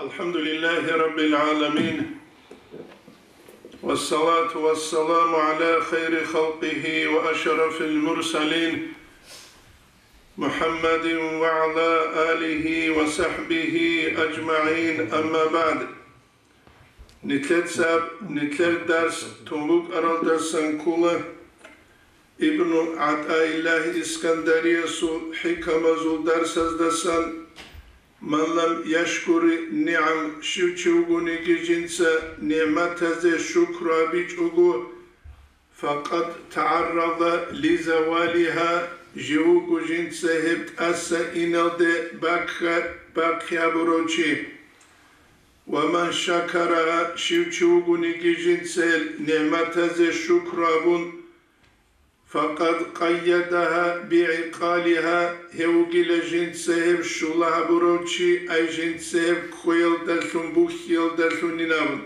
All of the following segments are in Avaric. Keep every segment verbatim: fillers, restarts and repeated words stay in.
الحمد لله رب العالمين، والصلاة والسلام على خير خلقه وأشرف المرسلين، محمد وعلى آله وصحبه أجمعين، أما بعد. Нилъеца нилъер дарс тун букӀаралдасан ккола Ибну ГӀатӀаиллагь Искандариясул хӀикамазул дарсаздасан: «Ман лам яшкури нигӀам», щив чи вугониги жинца нигӀматазе шукру гьабичӀого, «факъад тагӀаррада лизавалиха», жив вуго жинца гьеб тӀаса иналде бакха-, бахъи гьабурав чи. «Ва ман шакараха», щив чи вугониги жинца гьел нигӀматазе шукру гьабун, «факъад къайядаха бигӀикъалиха», гьев вугила жинца гьеб щула гьабурав чи, ай жинца гьеб кквеялдалъун, бухьиялдалъунин абун,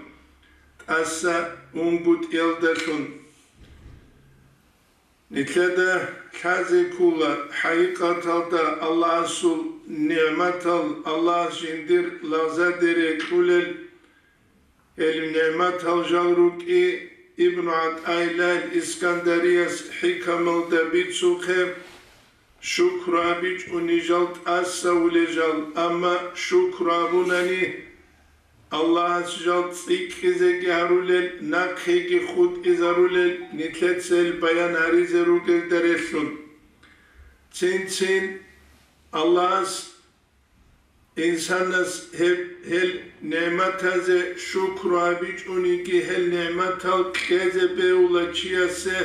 тӀаса унгутӀиялдалъун. Нилъеда лъазе ккола, хӀакъикъаталда Аллагьасул нигӀматал, Аллагьас жиндир лагъзадере кьулел, гьел нигӀматал жал рукӀи Ибну ГӀатӀаиллагь Искандарияс хӀикамалда бицухъе, шукру гьабичӀони жал тӀасавулел жал, амма шукру гьабунани, Аллагьас жал цӀикӀкӀизеги гьарулел, нахъеги хутӀизарулел нилъеца гьел баян гьаризе ругелда релълъун. Цин-цин Аллагьас инсанас гьеб, гьел нигӀматазе шукру гьабичӀониги, гьел нигӀматал кьезе бегьула чиясе,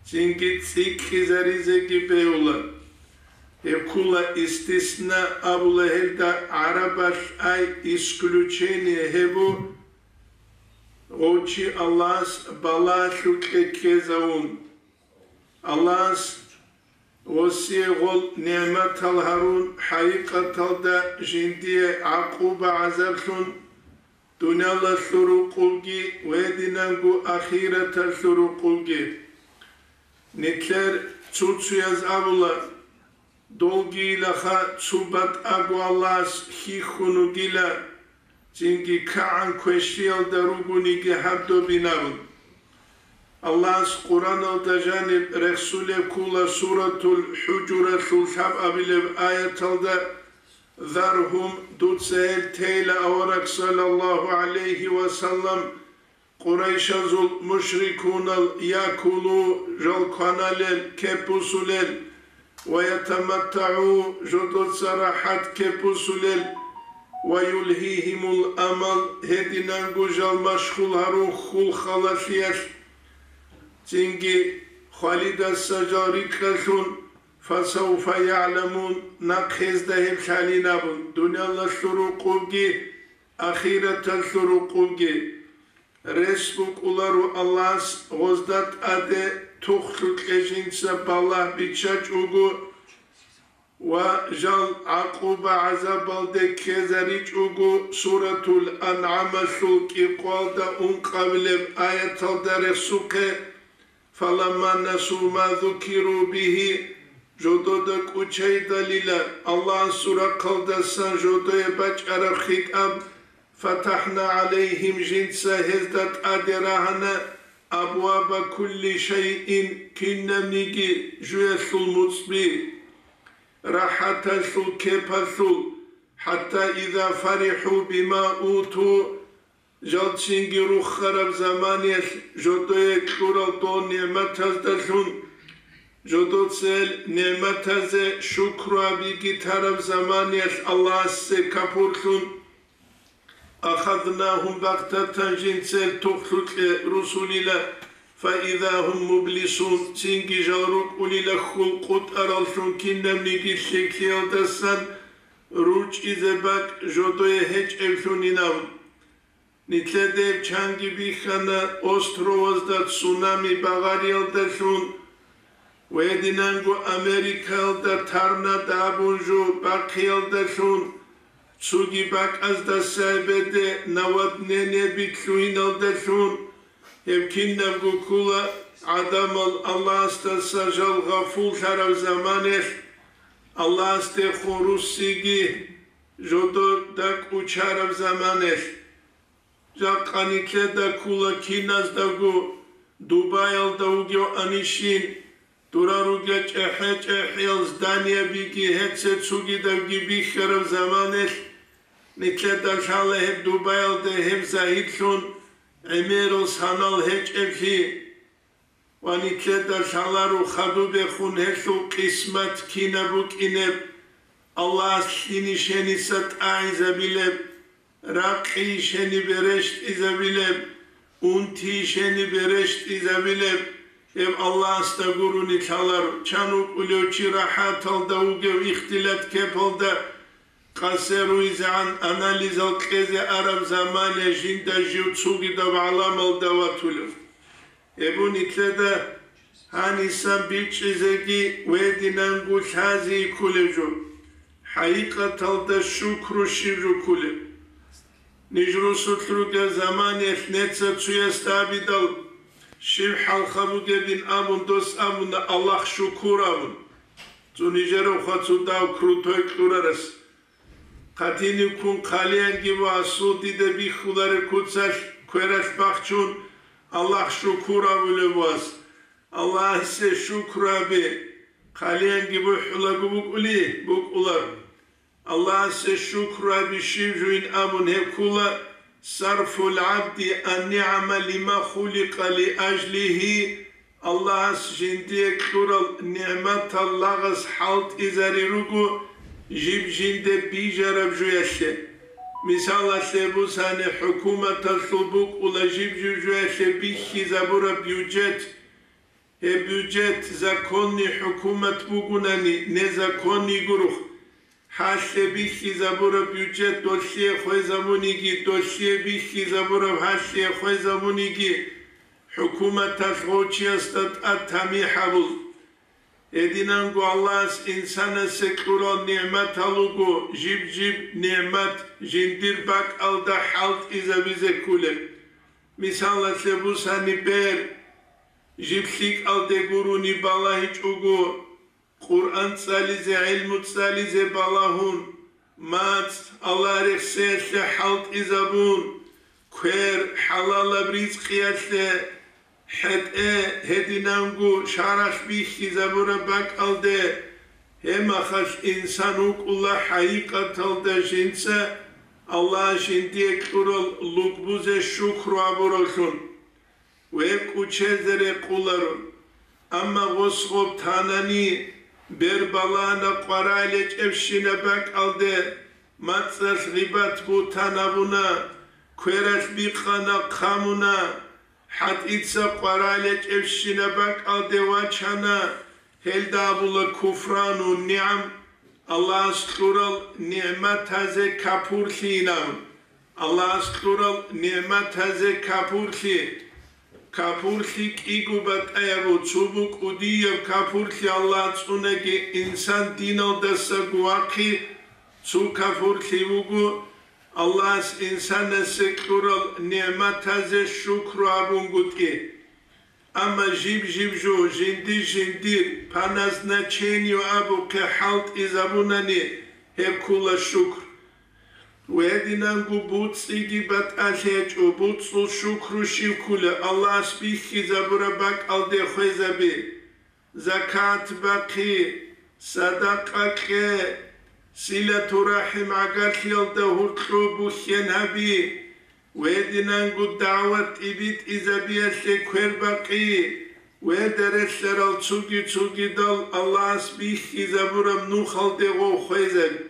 цинги цӀикӀкӀизаризеги бегьула. Гьеб ккола истисна абула гьелда гӀарабалъ, ай исключение гьеб бу, гъов чи Аллагьас балагьалъукье ккезавун. Аллагьас гъосие гъол нигӀматал гьарун, хӀакъикъаталда жиндие гӀакъуба-гӀазаблъун, дуниялалъул рукъубги ва гьединанго ахираталъул рукъубги. Нилъер цуцуяз абула, долгийилаха цо батӀаго Аллагьас хьихьун вугила, цинги кагӀан квешлъиялда ругониги гьаб добин абун. Аллагьас Къуръаналда жаниб рехсулеб ккола Суратул ХӀужуралъул лъабабилеб аяталда: «Заргьум», дуца гьел тейила, авараг саллаллагьу гӀалайгьи ва саллам, Къурайшазул мушрикунал, якулу, жал кваналел, кеппусулел, ва ятаматтагӀу, жодоца рахӀат кеппусулел, ва юлгьигьимул амал, гьединанго жал машгъул гьарун хьул халалъиялъ, цинги хвалидаса жал рикӀкӀалъун, фасавфа ягӀламун, нахъ гьезда гьеб лъалин абун, дуниялалъул рукъубги, ахираталъул рукъубги. Рес букӀуларо Аллагьас гъозда тӀаде тухлъукье жинца балагь биччачӀого ва жал гӀакъуба-гӀазабалде ккезаричӀого, Суратул АнгӀамалъул кӀикъоялда ункъабилеб аяталда рехсухъе: «Фаламма насу ма зукиру бигьи», жодода кӀучайдалила, Аллагьасул рахъалдасан жодое бачӀараб хитӀаб, «фатахӀна гӀалайгьим», жинца гьезда тӀаде рагьана, «абваба кулли шайин», кинабниги жуялъул муцӀби, рахӀаталъул кепалъул, «хӀатта иза фарихӀу бима уту», жал цинги руххараб заманиялъ жодое кьурал дол нигӀматаздалъун, жодоца гьел нигӀматазе шукру гьабиги тараб заманиялъ Аллагьасде капурлъун, «ахазнагьум багътатан», жинца гьел тухлъукье русулила, «фаиза гьум мублисун», цинги жал рукӀунила хьул къутӀараллъун кинабниги лъикӀлъиялдасан ручӀизе бакӀ жодое гьечӀеблъунинав. Нилъеде чанги бихьана островазда цунами багъариялдалъун, ва гьединанго Америкаялда торнадо абун жо бахъиялдалъун, цоги бакӀаздаса гьебеде наводнение билълъугьиналдалъун, гьеб кинабго ккола гӀадамал Аллагьасдаса жал гъафуллъараб заманалъ, Аллагьасдехун руссиги, жодода кӀучараб заманалъ. Жакъа нилъеда ккола киназдаго Дубаялда вугеванищин, дора ругел чӀехӀе-чӀехӀиял зданиябиги гьеце цугидабги бихьараб заманалъ, нилъеда лъала гьеб Дубаялда гьеб загьирлъун гӀемерал санал гьечӀеблъи. Ва нилъеда лъаларо хадубехун гьелъул къисмат кинаб букӀинеб, Аллагьас лъинищениса тӀагӀизабилеб, ракъийищенибе рещтӀизабилеб, унтийищенибе рещтӀизабилеб, гьеб Аллагьасда гурони лъаларо. Чан вукӀулев чи рахӀаталда вугев ихтилат кепалда къасе руйзегӀан анализал кьезе араб заманалъ жинда жив цугидаб гӀаламалда ватулев. Гьеб нилъеда гьанисан бичӀчӀизеги гьединанго лъази кколеб жо, хӀакъикъаталда шукру щиб жо кколеб. Ниж росулъ ругел заманаялъ неца цуясда абидал, щиб хӀалха бугебин абун дос абуна, Аллагь шукур абун. Цо нижерав хвацу дав крутой кьурарас. Хъатинив ккун хъалиянги ва асул дида бихьулареб куцалъ квералъ бахчун, Аллагь шукур абулев вас. Аллагьасе шукру абе, хъалиянги бухӀулаго букӀули, букӀулар. Аллагьасе шукру абе щиб жуин абун гьеб ккула, сарфул гӀабди ан-нигӀама лима хуликъа лиажлигьи, Аллагьас жиндие кьурал нигӀматал лагъас хӀалтӀизари руго жиб жинде бижараб жуялъе. Мисалалъе бусани, хӀукуматалъул букӀула жиб-жиб жуялъе бихьизабураб бюджет. Гьеб бюджет законный хӀукумат бугунани, незаконный гурухъ, гьалъе бихьизабураб бюджет долъие хвезабуниги, долъие бихьизабураб гьалъие хвезабуниги, хӀукуматалъ гъов чиясда тӀад тамихӀ гьабул. Гьединанго Аллагьас инсанасе кьурал нигӀматал руго жиб-жиб нигӀмат жиндир бакӀалда хӀалтӀизабизе кколеб. Мисалалъе бусани, бер, жиб лъикӀалде гурони балагьичӀого, Къуръан цӀализе, гӀилму цӀализе балагьун, мацӀ Аллагь рехсеялъе хӀалтӀизабун, квер хӀалалаб ризкъиялъе, хӀетӀе гьединанго шаралъ бихьизабураб бакӀалде, гьеб мехалъ инсан вукӀула хӀакъикъаталда жинца Аллагь жиндие кьурал лугбузе шукру гьабуравлъун. Ве кӀучезе рекъуларо. Амма гъос гъоб танани, бер балагьана къваригӀел гьечӀебщинаб бакӀалде, мацӀалъ гъибат-бугьтан гьабуна, квералъ бикъана, хъамуна, хӀатӀица къваригӀел гьечӀебщинаб бакӀалде вачана, гьелда абула куфрану нигӀам, Аллагьас кьурал нигӀматазе капурлъи инан. Аллагьас кьурал нигӀматазе капурлъи. Капурлъи кӀиго батӀаяб, цо бу кӀудияб капурлъи Аллагь цӀунаги, инсан диналдаса гувахъи, цо капурлъи вуго, Аллагьас инсанасе кьурал нигӀматазе шукру гьабунгутӀи. Амма жиб-жиб жо жиндир-жиндир по назначению абухъе хӀалтӀизабунани, гьеб ккула шукр. Гьединанго буцӀцӀиги батӀалъи гьечӀо, буцӀцӀул шукру щив ккула, Аллагьас бихьизабураб бакӀалде хвезаби, закат бахъи, садакъа кье, силатурахӀим гӀагарлъиялда гьуркьу бухьен гьаби, гьединанго дагӀват тӀибитӀизабиялъе квербакъи, гьеда релълъарал цуги-цугидал Аллагьас бихьизабураб нухалде гъов хвезаби.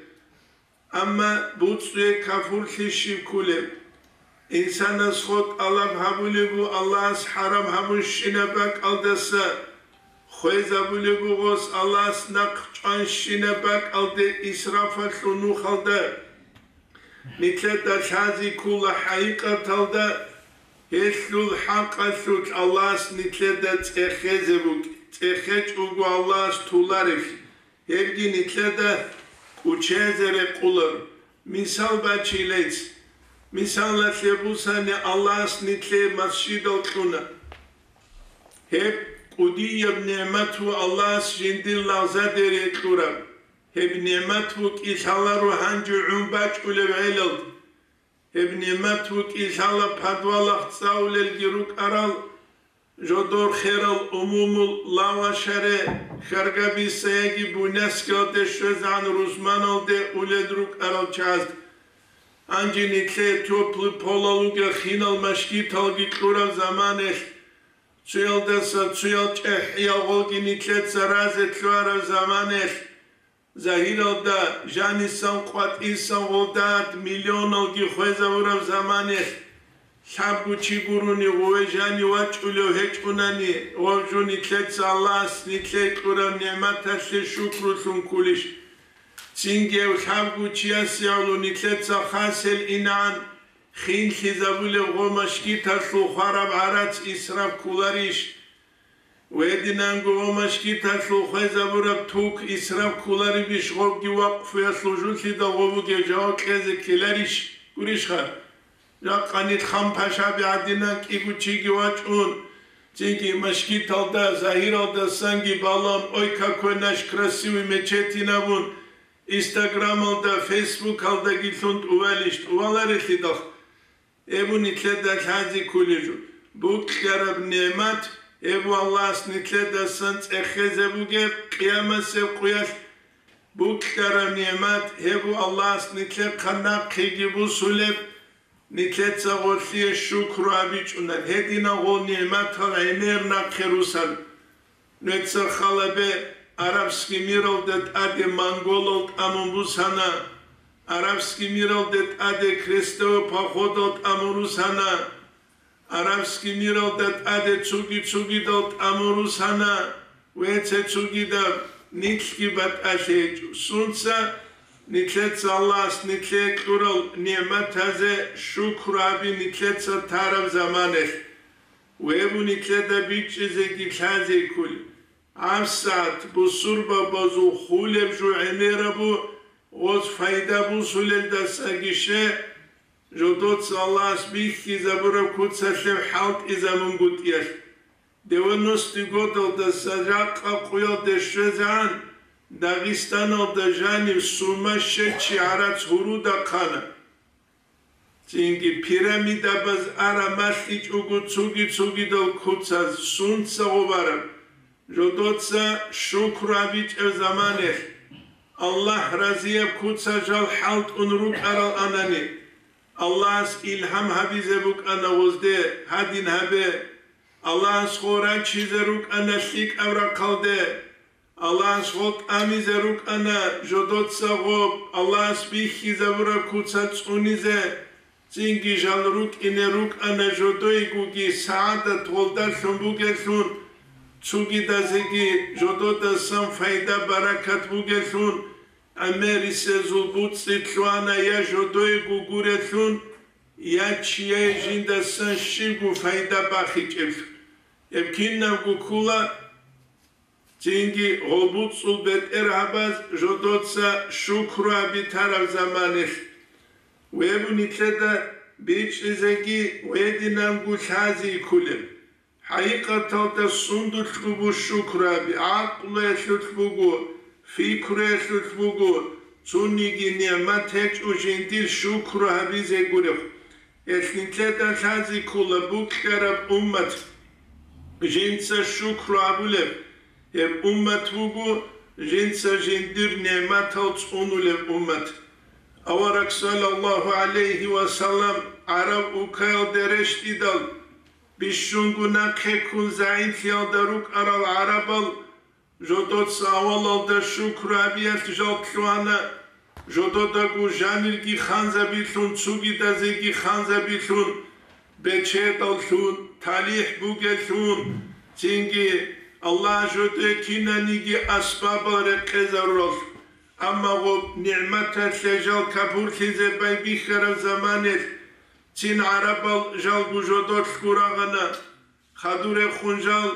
Амма буцӀцӀуе капурлъи щиб ккулеб? Инсанас хо тӀалаб гьабулеб бу Аллагьас хӀарам гьабунщинаб бакӀалдаса, хвезабулеб бугъос Аллагьас нахъ чӀванщинаб бакӀалде исрафалъул нухалда. Нилъеда лъази ккула хӀакъикъаталда, гьелъул хӀакъалъулъ Аллагьас нилъеда цӀехезе букӀ-, цӀехечӀого Аллагьас туларевлъи. Гьебги нилъеда кӀучезе рекъулар. Мисал бачилейц. Мисалалъе бусани, Аллагьас нилъее масжидал кьуна. Гьеб кӀудияб нигӀмат ву Аллагьас жиндир лагъзадере кьураб. Гьеб нигӀмат букӀи лъаларо гьанже гӀун бачӀулев гӀелалда. Гьеб нигӀмат букӀи лъала подвалахъ цӀалулелги рукӀарал, жодор херал умумул лавашаре, хьаргабиса яги буняскалде щвезегӀан рузманалде улел рукӀарал чагӀазда. Гьанже нилъее тёплый полал вугел хинал машгиталги кьураб заманаялъ, цуялдаса цуял чӀехӀиял гъолги нилъеца разе лъугьараб заманаялъ, загьиралда жанисан къватӀисан гъолдат миллионалги хвезабураб заманаялъ, лъабго чи гурони гъове жанив вачӀулев гьечӀунани, гъов жо нилъеца Аллагьас нилъее кьураб нигӀматалъе шукрулъун ккулищ? Цинги гьев лъабго чиясе гӀоло нилъеца хасел инан, хинлъизабулеб гъо машгиталъул хвараб гӀарац исраф кколарищ? Гьединанго гъо машгиталъул хвезабураб тук исраф кколаребищ, гъобги вакъфуялъул жулъидал гъо бугеб жаваб кьезе ккеларищ? Гурищха? Жакъа нилъ хан пашаби гӀадинан кӀиго чиги вачӀун, цинги машгиталда, загьиралдасанги балан, ой, какой наш красивый мечеть абун, Инстаграмалда, Фейсбукалдаги лъун тӀувалищ, тӀуваларелъидал? Гьеб бу нилъеда лъазе кколеб жо. Букьараб нигӀмат, гьеб бу Аллагьас нилъедасан цӀехезе бугеб къиямасеб къуялъ. Букьараб нигӀмат, гьеб бу Аллагьас нилъехъа нахъеги бусулеб, нилъеца гъолъие шукру гьабичӀунан, гьединал гъол нигӀматал гӀемер нахъе русан. Нуца халабе арабский миралда тӀаде монголал тӀамун бусана, арабский миралда тӀаде крестовый походал тӀамун русана, арабский миралда тӀаде цуги-цугидал тӀамун русана, веце цугидаб нилъги батӀалъи гьечӀо. Сунца нилъеца Аллагьас нилъее кьурал нигӀматазе шукру гьаби нилъеца тараб заманалъ. Гьеб бу нилъеда бичӀчӀизеги лъазе кколеб. ГьабсагӀат бусурбабазул хулеб жо гӀемераб бу, гъоз пайда бусулелдасаги ще, жодоца Аллагьас бихьизабураб куцалъе хӀалтӀизабунгутӀиялъ. Девяностый годалдаса жакъа къуялде щвезегӀан Дагъистаналда жанив сумащечи гӀарац гьуруда хъана. Цинги пирамидабаз ара малъичӀого цуги-цугидал куцаз сунца гъобараб, жодоца шукру гьабичӀеб заманалъ, Аллагь разияб куца жал хӀалтӀун рукӀарал анани, Аллагьас илгьам гьабизе букӀана гъозде, гьадин гьабе, Аллагьас гъо рачизе рукӀана лъикӀаб рахъалде, Аллагьас гъо тӀамизе рукӀана жодоца гъоб, Аллагьас бихьизабураб куца цӀунизе, цинги жал рукӀине рукӀана жодойгоги сагӀадат гъолдалъун бугелъун, цугидазеги жододасан пайда-баракат бугелъун, гӀемерисезул буцӀцӀи лъугьана я жодойго гурелъун, я чияе жиндасан щибго пайда бахичӀеблъун. Гьеб кинабго ккола. Цинги гъолбуцӀул бетӀергьабаз жодоца шукру гьабитараб заманалъ, гьеб бу нилъеда бичӀчӀизеги гьединанго лъазе кколеб. ХӀакъикъаталда сундулъго бу шукру гьаби, гӀакълуялъулъ буго, пикруялъулъ буго, цониги нигӀмат гьечӀо жиндир шукру гьабизе гуреб. Гьелъ нилъеда лъазе ккола букьараб уммат. Жинца шукру гьабулеб гьеб уммат буго, жинца жиндир нигӀматал цӀунулеб уммат. Авараг саллаллагьу гӀалайгьи ва саллам гӀараб улкаялде рещтӀидал, бищунго нахъе ккун загӀиплъиялда рукӀарал гӀарабал, жодоца авалалда шукру гьабиялъ жал лъугьана, жододаго жанирги ханзабилъун, цугидазеги ханзабилъун, бечедаллъун, талихӀ бугеллъун, цинги Аллагь жодое кинаниги асбабал рекъезаруралъ. Амма гъоб нигӀматалъе жал капурлъизе байбихьараб заманалъ цин гӀарабал жалго жодолъ гурагъана, хадур рехун жал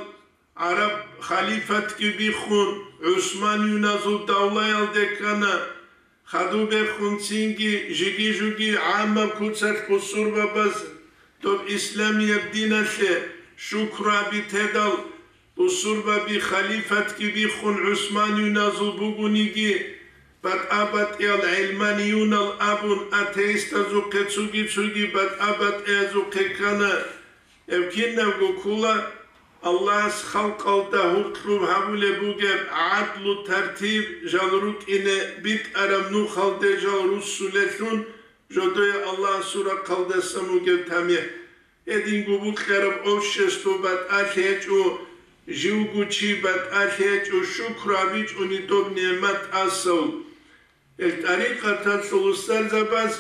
гӀараб халифатги биххун, гӀусманиюназул давлаялде ккана, хадуб бехун цинги жиги-жуги гӀаммаб куцалъ бусурбабаз доб исламияб диналъе шукру гьаби тедал, бусурбаби халифатги биххун гӀусманиюназул бугониги, батӀа-батӀиял гӀилманиюнал абун, атеистазухъе цуги-цуги батӀа-батӀиязухъе ккана. Гьеб кинабго ккола Аллагьас халкъалда гьуркьуб гьабулеб бугеб гӀадлу-тартиб жал рукӀине битӀараб нухалде жал руссулелъун, жодое Аллагьасул рахъалдасан бугеб тамихӀ. Гьединго букьараб общество батӀалъи гьечӀо, живго чи батӀалъи гьечӀо, шукру гьабичӀони доб нигӀмат тӀасал. Гьел тӀарикъаталъул устарзабаз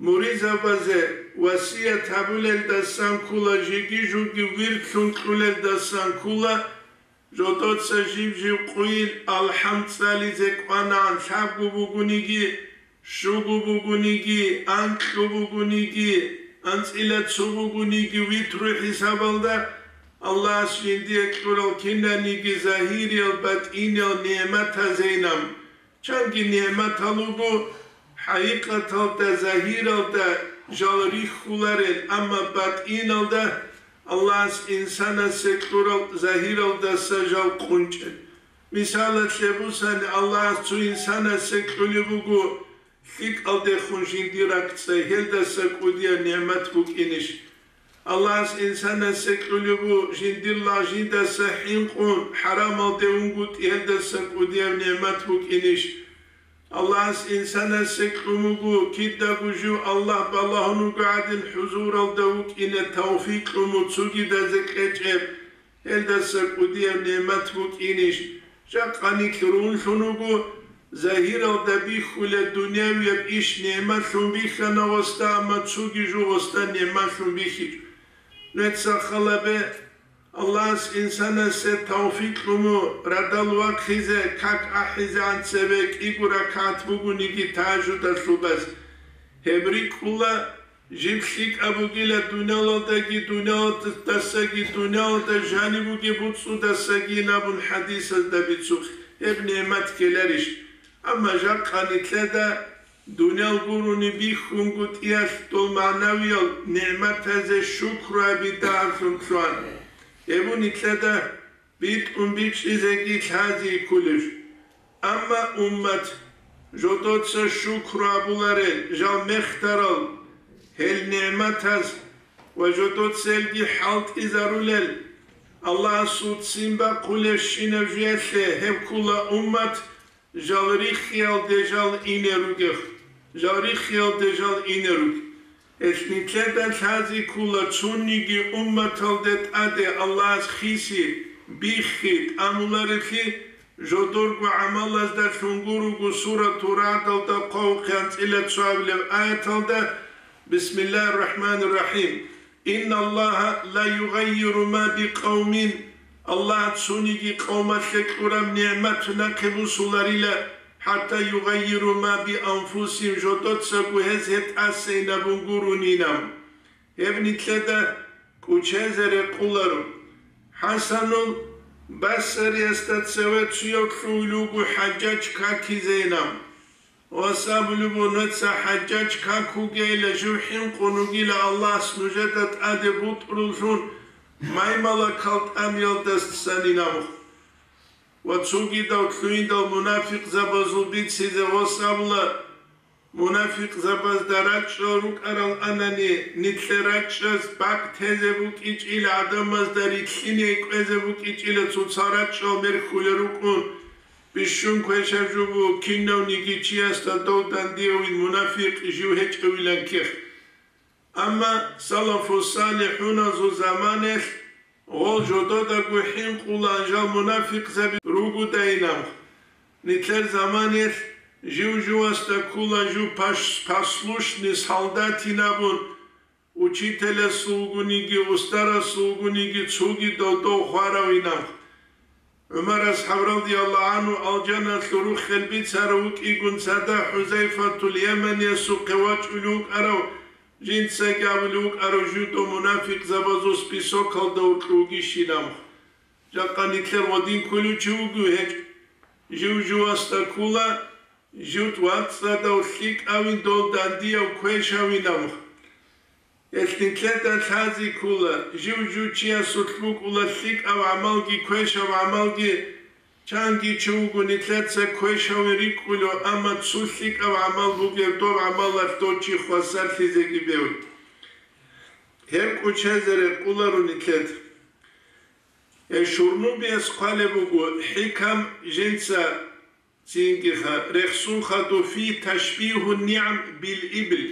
муридзабазе васият гьабулелдасан ккола, жеги-жуги вирлъун кьулелдасан ккола, жодоца жив-жив къуйил алхӀам цӀализе кӀванагӀан, лъабго бугониги, щуго бугониги, анкьго бугониги, анцӀила цо бугониги, витру хӀисабалда Аллагьас жиндие кьурал кинаниги загьириял батӀиниял нигӀматазейилан. Чанги нигӀматал руго хӀакъикъаталда, загьиралда жал рихьуларел, амма батӀиналда Аллагьас инсанасе кьурал загьиралдаса жал къунчӀел. Мисалалъе бусани, Аллагьас цо инсанасе кьулеб буго лъикӀалдехун жиндир ракӀцӀай, гьелдаса кӀудияб нигӀмат букӀинищ? Аллагьас инсанасе кьулеб буго жиндир лагъ жиндаса хӀинкъун, хӀарамалде унгутӀи, гьелдаса кӀудияб нигӀмат букӀинищ? Аллагьас инсанасе кьун буго кидаго жив Аллагь балагьун вуго гӀадин хӀузуралда вукӀине тавфикъ кьун, цогидазе кьечӀеб, гьелдаса кӀудияб нигӀмат букӀинищ? Жакъа нилъ рунлъун вуго, загьиралда бихьулеб дунявияб иш нигӀматлъун бихьана гъосда, амма цоги жо гъосда нигӀматлъун бихьичӀо. Нуца халабе, Аллагьас инсанасе тавфикъ кьун радал вахъизе, как ахӀизегӀан цебе кӀиго ракагӀат бугониги тагьажудалъул баз. Гьеб рикӀкӀуна, жиб лъикӀаб бугила дуниялалдаги, дуниялалдасаги, дуниялалда жаниб бугеб буцӀцӀудасаги абун хӀадисазда бицухъ, гьеб нигӀмат ккеларищ? Амма жакъа нилъеда дуниял гурони бихьунгутӀиялъ дол магӀнавиял нигӀматазе шукру гьаби дагьаблъун лъугьана. Гьеб нилъеда битӀун бичӀчӀизеги лъази кколеб. Амма уммат, жодоца шукру гьабуларел, жал мехтарал гьел нигӀматаз ва жодоцелги хӀалтӀизарулел, Аллагьасул ццин бахъулебщинаб жуялъе гьеб ккула уммат, жал риххиялде жал ине ругех, жал риххиялде жал ине руг. Гьелъ нилъеда лъази ккула цониги умматалде тӀаде Аллагьас хиси, биххи, тӀамуларелъи, жодорго гӀамалазда лъунгун руго Сурату РагӀдалда хъвалухъе анцӀила цоабилеб аяталда: «Бисмиллагьир рахӀманир рахӀим. Инналлагьа ла югъаййиру ма би къавмин». Аллагь цониги къавмалъе кьураб нигӀмат нахъе бусуларила, хӀатта югъаййиру ма би анфусигьим, жодоцаго гьез гьеб тӀасейин абун гурунинан. Гьеб нилъеда кӀучезе рекъоларо. ХӀасанул Басариясда цеве цуяв лъугьулев вуго ХӀажжаж какизейилан. Вас абулеб буго, нуца ХӀажжаж как вугейилан жив хӀинкъун вугила Аллагьас нужеда тӀаде бутӀруллъун маймалакал тӀамиялдасанин абун. Ва цогидав лъугьиндал мунафикъзабазул бицизе вас абула, мунафикъзабазда рачӀчӀал рукӀарал анани, нилъер рачӀчӀаз бакӀ тезе букӀичӀила, гӀадамазда рилълъине кӀвезе букӀичӀила, цоцал рачӀчӀал мерхьулел рукӀун, бищун квешаб жо буго, кинавниги чиясда дов дандиявин мунафикъ жив гьечӀевилан ккех. Амма салафу-салихӀуназул заманаялъ гъол жододаго хӀинкъулан жал мунафикъзаби ругодайилан. Нилъер заманаялъ жив-живасда ккула жив паш-, послушный солдатин абун, учителасул вугониги, устарасул вугониги, цогидал дов хваравинан. ГӀумар асхӀаб радияллагьу гӀанхӀу алжаналъул руххел бицарав вукӀигун цадахъ ХӀузайфатул Яманиясухъе вачӀулев вукӀарав, жинцаги абулев вукӀарав жудо мунафикъзабазул списокалда вукьугищилан. Жакъа нилъер гъодин кколев чи вугев гьечӀ. Жив-живасда ккула, жив вацӀцӀадав лъикӀавин дол дандияв квешавинав. Гьелъ нилъеда лъази ккула, жив-жив чиясулъ букӀула лъикӀав гӀамалги квешав гӀамалги, Чанги чи вуго нилъеца квешавин рикӀкӀулев, амма цо лъикӀав гӀамал бугеб, доб гӀамалалъ дов чи хвасарлъизеги бев. Гьеб кӀочезе рекъоларо нилъеда. Э, Шурнубияс хъвалеб буго, хӀикам жинца цинги ха-, рехсун хадуб фи ташбигьу нигӀам бил ибл.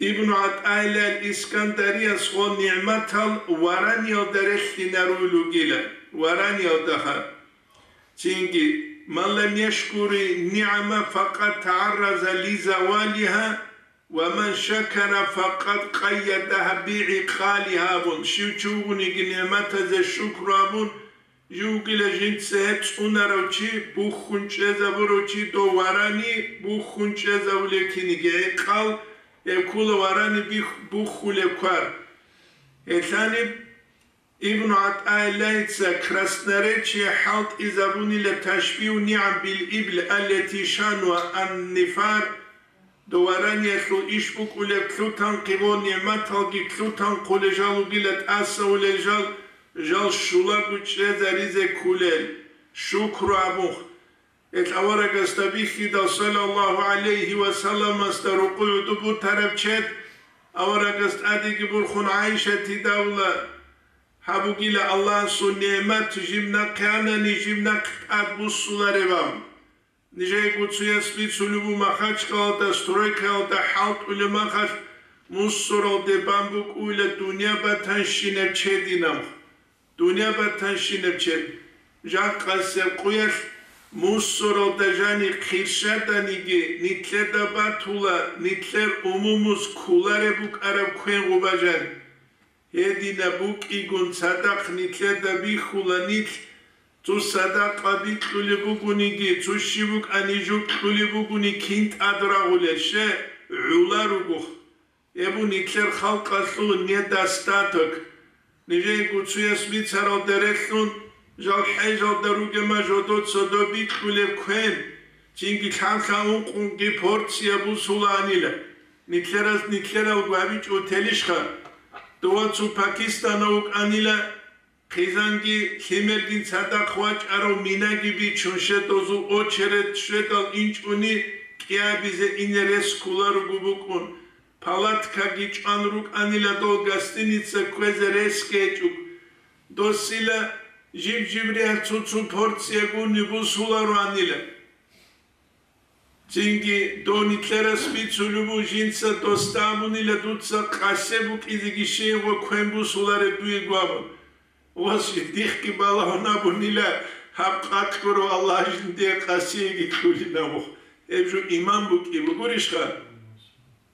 Ибну ГӀатаилла Искандариясго нигӀматал вараниялда релълъинарулел ругила, вараниялдаха. Цинги, «Ман лам яшкури нигӀама факъад тагӀарраза ли завалиха, ва ман шакара факъад къайядаха би гӀикъалиха», абун, щив чи вугониги нигӀматазе шукру абун, Жив вугила жинца гьеб цӀунарав чи, бухьун чӀезабурав чи, дов варани бухьун чӀезавулев киниги гӀикъал, гьеб ккола варани бих-, бухьулеб квар. Гьелъаниб Ибну ГӀатаиллагьица красноречие хӀалтӀизабунила ташбигьу нигӀам бил ибл аллати шануа ан-нифар, Дов вараниялъул иш букӀулеб лъутанхъе ва нигӀматалги лъутанхъулел жал вугила тӀасавулел жал, жал щулаго чӀезаризе кколел, шукру абун. Гьелъ аварагасда бихьидал, саллаллагьу гӀалайгьи ва салламасда рокъов гӀодоб бутараб чед, аварагас тӀадеги борхун ГӀайшатида абула, гьаб бугила Аллагьасул нигӀмат, жиб нахъе анани, жиб нахъ тӀад буссулареб абун. Нижее гуцуяс бицулеб буго Махачкалалда стройкаялда хӀалтӀулеб махалъ мусоралде бан букӀуйла дунъя батанщинаб чединаб. Дунъя батанщинаб чед. Жакъасеб къуялъ мусоралда жани хирщаданиги, нилъеда батула, нилъер умумуз кколареб букӀараб квен гъуба жани. Гьединаб букӀигун цадахъ нилъеда бихьула нилъ, цо садакъа бикьулеб бугониги, цо щиб букӀани жо кьулеб бугони кин тӀад рагъулел, ще, гӀула ругоха. Гьеб буго нилъер халкъалъул недостаток. Нижее гуцуяс бицаралда релълъун, жал хӀежалда ругема жодоца доб бикьулеб квен, цинги лъаб-лъаб ункънги порция бусулаанила. Нилъераз нилъералго гьабичӀо телищха? Дова цо Пакистанав вукӀанила, хъизанги лъимергин цадахъ вачӀарав минаги бичун, щедазул очередь щведал инчӀони кӀиабизе ине рес кколаруго букӀун, палаткаги чӀван рукӀанила дол гостиница кквезе ресги гьечӀого. Досила жиб-жибриялъ цо-цо порция гуни бусулароанила. Цинги дов нилъерас бицулеб буго, жинца досда абунила дуца къасе букӀизеги щайгъо квен бусулареб дуего абун. Ва дихъги балагьун абунила, гьаб къакълъурав Аллагь жиндие къасиеги кьулин абун. Гьеб жо иман букӀин бугурищха?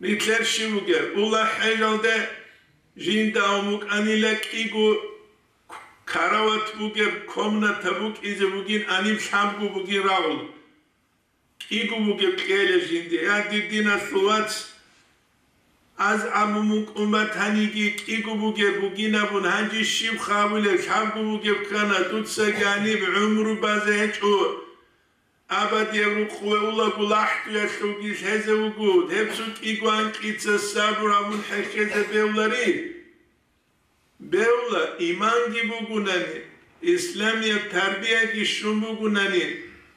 Нилъер щиб бугеб? Ула хӀежалде жинда ун букӀанила кӀиго карават бугеб, комната букӀизе бугин, аниб лъабго бугин рагъул. КӀиго бугеб кьела жинде, я дир диналъул вац, аз абун мукӀун батаниги, кӀиго бугеб бугин абун, гьанже щиб хабулеб, лъабго бугеб ккана, дуцаги гьаниб гӀумру базе гьечӀо. Абадияб рукъ ве улаго лахӀдуялъулги лъезе вуго, гьеб цо кӀиго анкьица сабур абун хӀехьезе бевлари. Бевла, иманги бугунани, исламияб тарбияги щун бугунани,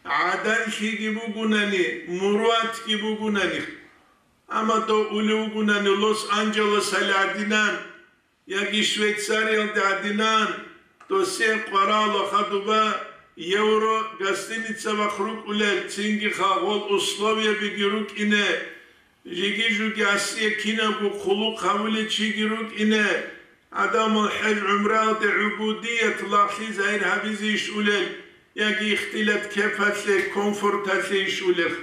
гӀадаллъиги бугунани, муруатги бугунани. Амма дов улев вугунани Лос-Анджелесалде гӀадинан, яги Швейцариялде гӀадинан, досие къваралаха дуба евро гостиница вахъ рукӀулел, цинги хагъол условиябиги рукӀине, Жиги-жуги асие кинабго хъулухъ гьавулев чиги рукӀине, гӀадамал хӀеж-гӀумраялде гӀубудият лагълъи загьир гьабизе иш улел, яги ихтилат кепалъе, комфорталъе иш улел.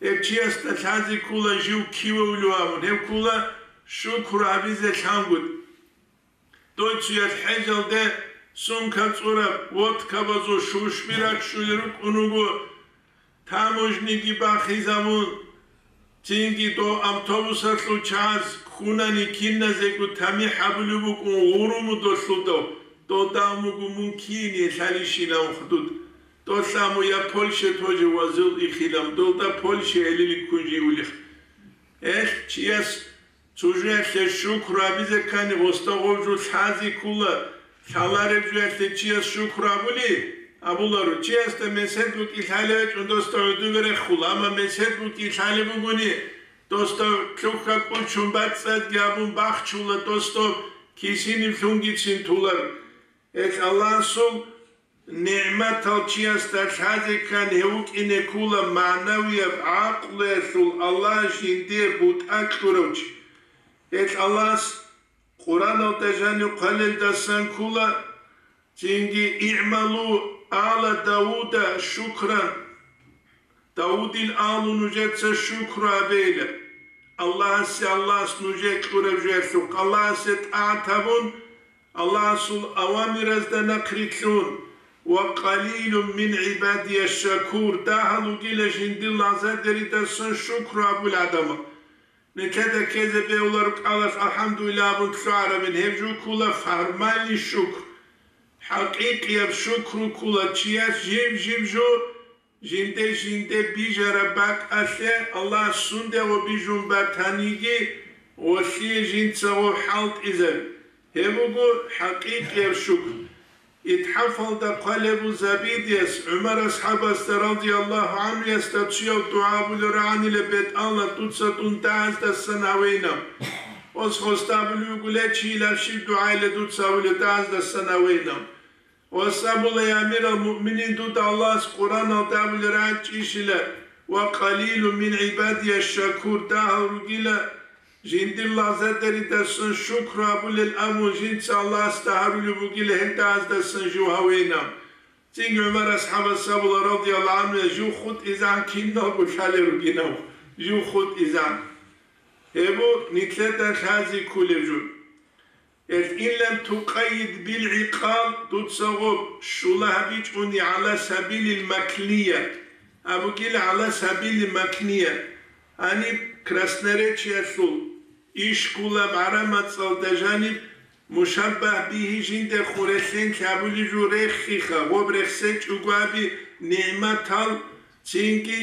Гьев чиясда лъазе ккола жив кивавулев абун, гьев ккола шукру гьабизе лъангутӀ. Дой цоял хӀежалде сумка цӀураб, водкабазул шушби раччулел рукӀун руго, таможниги бахизабун, цинги дов автобусалъул чагӀаз ккунани киназего тамихӀ гьабулеб букӀун гъурумудалъул дов, дов дав муго мун кине лъалищилан худуд. Долъа мун я Польше тоже вазул ихилам, долда Польше гьелили ккун жиулих. Эх, чияс Цо жоялъе шукру гьабизе ккани, гъосда гъов жо лъазе ккола, Лъалареб жоялъе чияс шукру абули, абуларо, чиясда месед букӀин лъалеб гьечӀун досда гӀодобе рехула, амма месед букӀин лъалеб бугони, досда лъухьа кӀучун бацӀцӀадги абун бахчула, досда кисинив лъунгицин тула. Гьелъ Аллагьасул нигӀматал чиясда лъазе ккан гьев вукӀине ккола магӀнавияб гӀакълуялъул Аллагь жиндие бутӀа кьурав чи. Гьелъ Аллагьас Къуръаналда жанив хъвалелдасан ккола, цинги, «Игьмалу ала Давуда шукран», Давудил агьлу нужеца шукру гьабейилан. Аллагьасе, Аллагьас нужее кьураб жоялъухъ, Аллагьасе тӀагӀат гьабун, Аллагьасул авамиразда нахърилълъун, «Ва къалилун мин гӀибадия шакур», дагьал ругила жиндир лагъзадеридасан шукру гьабул гӀадамал. Нилъеда ккезе бегьуларо кӀалалъ «АлхӀамдулиллагь» абун лъугӀарабин, гьеб жо ккола формальный шукр. ХӀакъикъияб шукру ккола чияс жиб-жиб жо жинде-жинде бижараб бакӀалъе Аллагьас сундего бижун батаниги, гъолъие жинцаго хӀалтӀизаби. Гьеб буго хӀакъикъияб шукр. ИтхӀафалда хъвалеб буго Забидияс, ГӀумар асхӀабасда, радияллагьу гӀанхуясда, цояв дугӀа абулеб рагӀанила бетӀална, дуца дун дагьаздасан гьавейилан. Ос хосда абулеб буго, ле, чилаб щиб дугӀайила дуца абулеб дагьаздасан гьавейилан. Ос абула, я амирал муъминин, дуда Аллагьас Къуръаналда абулеб рагӀичӀищила, «Ва къалилун мин гӀибадия шакур», дагьал ругила, жиндир лагъзадеридасан шукру гьабулел абун жинца Аллагьасда гьарулеб бугила, гьелдагьаздасан жив гьавейилан. Цинги ГӀумар асхӀабас абула, радияллагьу гӀанху, жив хутӀизегӀан киналго лъалел ругинав, жив хутӀизегӀан. Гьеб буго нилъеда лъазе кколеб жо. Гьелъ, «Ин лам тукъайид бил гӀикъал», дуца гъоб щула гьабичӀони, «гӀала сабилил макния», абугила, «гӀала сабилил макния». Гьаниб Красноречиялъул ишкулаб гӀарамацӀалда жаниб мушаббагь бигьи жинда хурелъен лъабулеб жо рехиха, гъоб рехсечӀого аби нигӀматал, цинги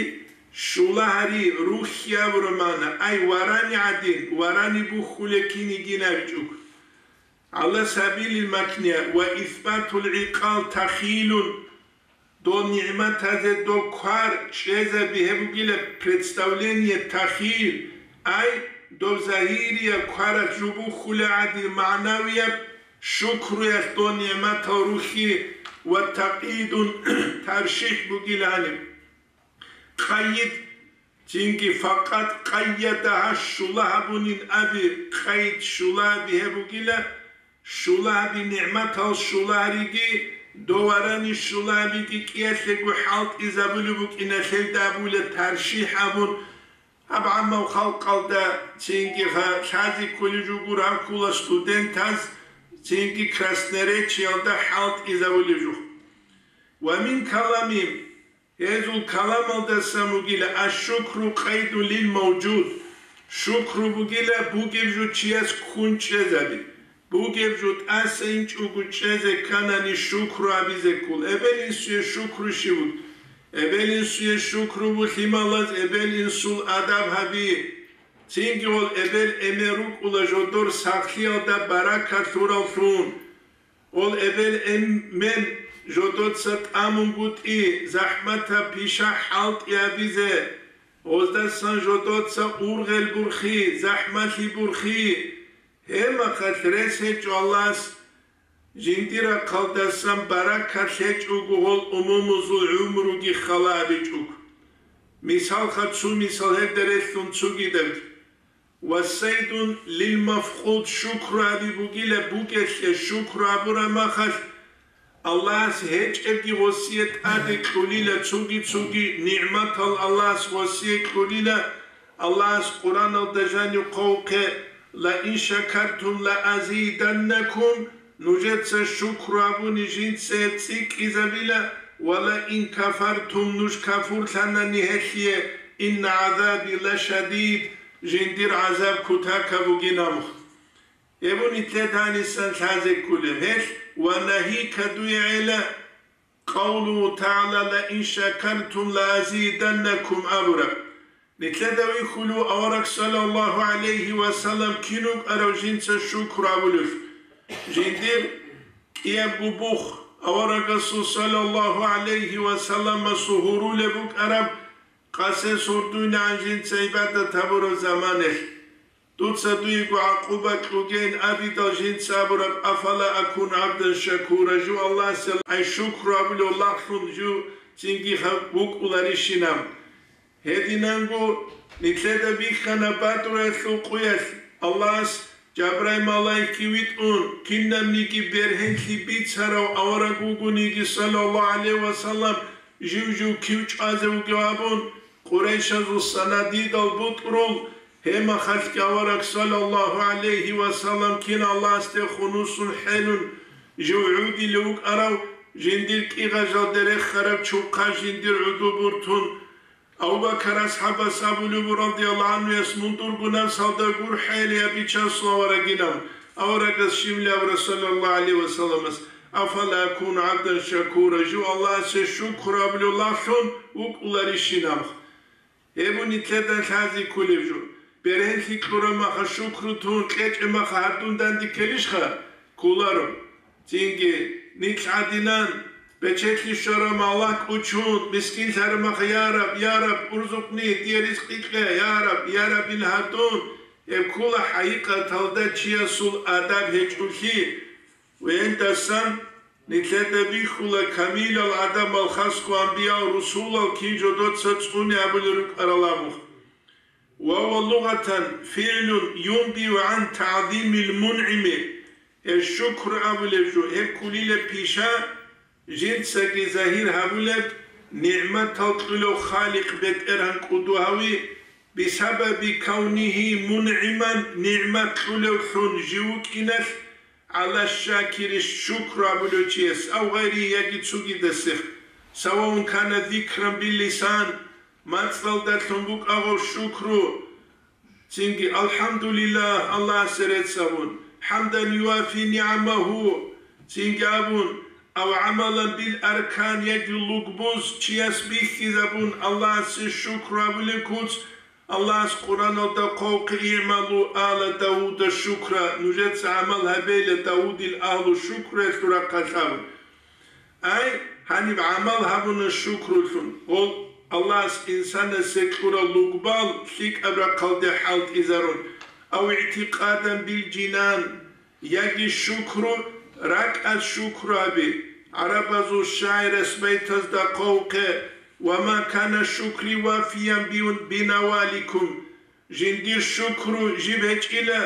щула гьари, рухьи абураб магӀна, ай, варани гӀадин, варани бухьулеб кинигин абичӀого. «ГӀала сабилил макния ва исбатул гӀикъал тахилун», дол нигӀматазе доб квар чӀезаби гьеб бугила представление тахил, ай, доб загьирияб кваралъ жубухьула гӀадин, магӀнавияб шукруялъ дол нигӀматал рухьи, ва такъидун, таршихӀ бугила гьаниб. Къайид, цинги, «факъат къайяда», гьа, щула гьабунин аби, къайид щула аби гьеб бугила, щула аби нигӀматал щула гьариги, доварани щула абиги кӀиялъего хӀалтӀизабулеб букӀиналъелда абула таршихӀ абун, гьаб гӀаммав халкъалда цинги гьа лъазе кколеб жо гуро гьаб ккола студентаз, цинги Красноречиялда хӀалтӀизабулеб жо. Ва мин каламим, гьезул каламалдасан бугила: «Аш-шукру къайдун лил мавжуд», шукру бугила бугеб жо чияс ккун чӀезаби, бугеб жо тӀаса инчӀого чӀезе кканани шукру гьабизе ккол. Эбел-инсуе шукру щиб буго? Эбел-инсуе шукру буго лъималаз эбел-инсул адаб гьаби. Цинги гъол эбел-эмен рукӀула жодор сахлъиялда баракат лъураллъун. Ол эбел-эмен жодоца тӀамунгутӀи, захӀматаб пиша хӀалтӀи гьабизе, оздасан жодоца ургъел бурхи, захӀмалъи бурхи. Гьеб мехалъ рес гьечӀо Аллагьас жиндир рахъалдасан баракат лъечӀого гъол умумузул гӀумруги хала гьабичӀого. Мисалха, цо мисал гьелда релълъун цогидабги. «Ва сайдун лил мафкъуд», шукру гьаби бугила бугелъе, шукру гьабураб мехалъ Аллагьас гьечӀебги гъосие тӀаде кьолила, цоги-цоги нигӀматал Аллагьас гъосие кьолила. Аллагьас Къуръаналда жанив хъвавухъе: «Ла ин шакартум ла азиданнакум», нужеца шукру гьабуни жинца цӀикӀкӀизабила, «ва ла ин кафартум», нуж кафурлъанани гьелъие, «инна гӀазаби ла шадид», жиндир гӀазаб кутакаб бугин абухъ. Гьеб буго нилъеда гьанисан лъазе кколеб гьелъ ва нагьи кадуе гӀела, къавлугьу тагӀала: «Ла ин шакартум ла азиданнакум», абураб. Нилъеда вихьулев авараг, саллаллагьу гӀалайгьи ва саллам, кин вукӀарав жинца шукру гьабулев? Жиндир кӀиябго бух, аварагасул саллаллагьу гӀалайгьи ва салламасул гьурулеб букӀараб, къасес гьурдуйнагӀан жинца гӀибадат гьабураб заманалъ. Дуца дуего гӀакъуба кьугейин абидал жинца абураб: «Афала акуну гӀабдан шакура», жив Аллагьасе ай шукру абулев лагълъун жив цинги гьаб вукӀуларищинаб. Гьединанго нилъеда бихьана Бадруялъул къуялъ, Аллагьас Жабраил малаикги витӀун, кинабниги бергьенлъи бицарав авараг вугониги, саллаллагьу гӀалайгьи ва саллам, жив-жив кив чӀвазе вугев абун, Къурайшазул санадидал бутӀрул, гьемахалъги авараг, саллаллагьу гӀалайгьи ва саллам, кин Аллагьасде хунусун хӀелун, жив гӀудилев вукӀарав, жиндир кӀигъажалде рехараб чухъа жиндир гӀуду бутӀун, Абу Бакар асхӀабас абулеб буго, радияллагьу гӀанхуяс, мун дурго напсалда гурхӀел я бичасул аварагилан, аварагас щиб абураб, саллаллагьу гӀалайгьи ва салламас: «Афала акуну гӀабдан шакура», жив Аллагьасе шукру абулев лагълъун вукӀуларищинаб. Гьеб нилъеда лъазе кколеб жо. Бергьенлъи кьураб маха шукру тун кьечӀеб маха гьардун данде ккелищха? Кколаро. Цинги, нилъ гӀадинан, бечелъи щвараб маллагь кӀучун, мискинлъараб маха: «Я Раб, я Раб, урзукъни, дие ризкъи кье, я Раб, я Раб», ил гьардун, гьеб ккола хӀакъикъаталда чиясул адаб гьечӀолъи. Вендасан нилъеда бихьула камилал гӀадамал, хасго анбиял, русулал кин жодоца цӀуне абулел рукӀарал абун. Ва ва лугъатан фигӀлун юнбиу гӀан тагӀзимил мунъими, гьеб шукру абулеб жо, гьеб кколила пиша, жинцаги загьир гьабулеб, нигӀматал кьулев Халикъ БетӀергьан кӀуду гьави, бисабаби кавнигьи мунъиман, нигӀмат кьулевлъун жив вукӀиналъ, гӀала шакири шукру абулев чияс, ав гъайри яги цогидасех, саваун кана зикран биллисан, мацӀалдалъун букӀа гъов шукру, цинги «АлхӀамдулиллагь», Аллагьасе рецц абун, «хӀамдан юафи нигӀамагьу», цинги абун, ав гӀамалан бил аркан яги лугбуз чияс бихьизабун, Аллагьасе шукру абулеб куц, Аллагьас Къуръаналда хъвавухъе: «ИгӀмалу ала Давуда шукра», нужеца гӀамал гьабейила Давудил агьлу шукруялъул рахъалъ абун. Ай, гьаниб гӀамал гьабуна шукрулъун, гъол Аллагьас инсанасе кьурал лугбал лъикӀаб рахъалде хӀалтӀизарун, ав игӀтикъадан бил жинан, яги шукру, ракӀалъ шукру гьаби, гӀарабазул шагӀирас байтазда хъвавухъе: «Ва ма кана шукри вафиян би-, бинаваликум», жиндир шукру жиб гьечӀила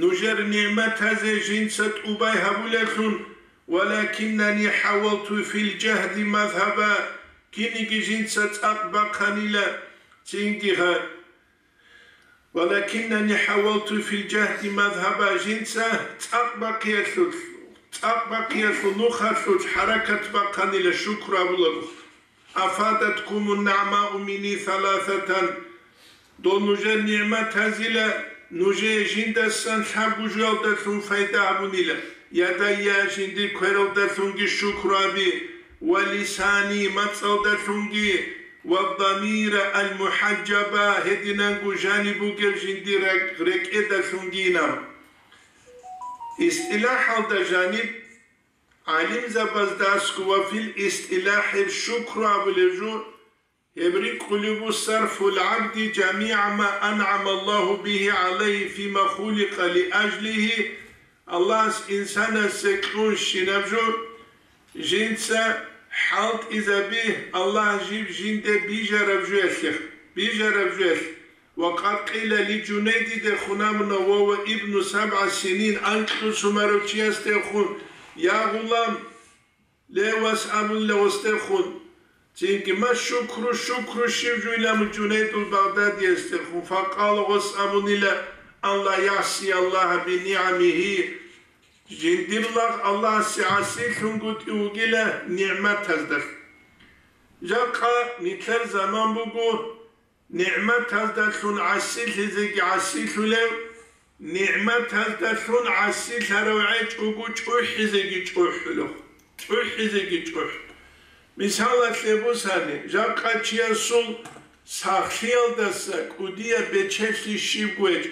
нужер нигӀматазе жинца тӀубай гьабулеллъун, «валакиннани хӀавалту фил жагьди мазгьаба», киниги жинца цӀакъ бахъанила, цинги гьа-, «Валакиннани хӀавалту фил жагьди мазгьаба», жинца цӀакъ бахъиялъул, цӀакъ бахъиялъул нухалъулъ хӀаракат бахъанила шукру абулаго. «Афадаткумун нагӀмау минни саласатан», дол нужер нигӀматазила нужее жиндасан лъабго жоялдалъун пайда гьабунила, я дая, жиндир квералдалъунги шукру гьаби, ва лисани, мацӀалдалъунги, ва дамира ал-мухӀаджаба, гьединанго жаниб бугеб жиндир ракӀ-, рекӀедалъунгинаб. ИстӀилахӀалда жаниб гӀалимзабаздасго ва фил истилахӀи шукру абулеб жо, гьеб рикӀкӀулеб бу сарфул гӀабди жамигӀа ма анъама Аллагьу бигьи гӀалайгьи фима хуликъа лиажлигьи, Аллагьас инсанасе кьун щинаб жо, жинца хӀалтӀизаби Аллагь жиб жинде бижараб жоялъе, бижараб жоялъ. Ва къад къила ли Жунайдиде хунамуна ва ва ибну сабгӀа синин анкьго сумарав чиясдехун, я гъулам, ле вас абулила гъосдехун, цинги ма шукру, шукру щиб жуйла мун Жунайдул Багъдадиясдехун, факъала гъос абунила, ан ла ясия Аллагьа бинигӀамигьи, жиндир лагъ Аллагьасе гӀасилъунгутӀи вугила нигӀматаздалъ. Жакъа нилъер заман буго, нигӀматаздалъун гӀасилъизеги гӀасилъулев, нигӀматаздалъун гӀасилъарав гӀечӀого чӀухӀизеги чӀухӀулев, чӀухӀизеги чӀухӀ. Мисалалъе бусани, жакъа чиясул сахлъиялдаса кӀудияб бечелъи щибго гьечӀ,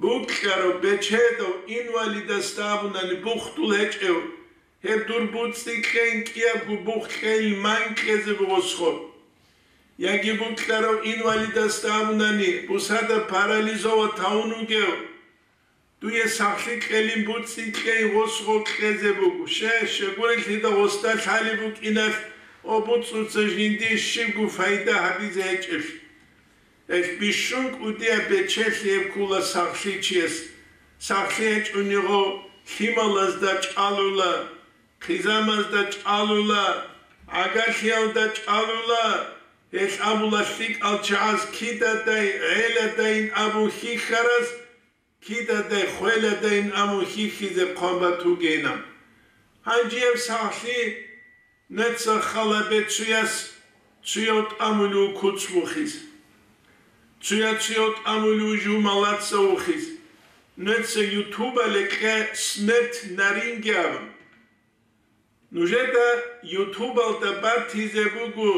букьарав, бечедав, инвалидасда абунани бухтул гьечӀев, Гьеб дур буцӀцӀи кьейин кӀиябго бух кьейин ман кьезе буго схо. Яги букьарав инвалидасда абунани, бусада парализоват гьавун вугев, дуе сахлъи кьелин буцӀцӀи кьейин гъос гъо кьезе буго. Ще, щегурелъида гъосда лъалеб букӀиналъ, о буцӀцӀуца жиндие щибго пайда гьабизе гьечӀеблъи. Гьелъ бищун кӀудияб бечелъи гьеб ккула сахлъи чияс. Сахлъи гьечӀониго лъималазда чӀалула, хъизамазда чӀалула, гӀагарлъиялда чӀалула, гьелъ абула лъикӀал чагӀаз кидадай, гӀеладайин абун хьихьараз, кидадай, хвеладайин абун хьихьизе хъван батугейилан. Гьанже гьеб сахлъи Нуца хал гьабе цуяс цуяв тӀамулев куц вухизе. Цуя-цуяв тӀамулев жумалаца вухизе. Нуца ютубалде кье смерть на ринге абун. Нужеда ютубалда батизе буго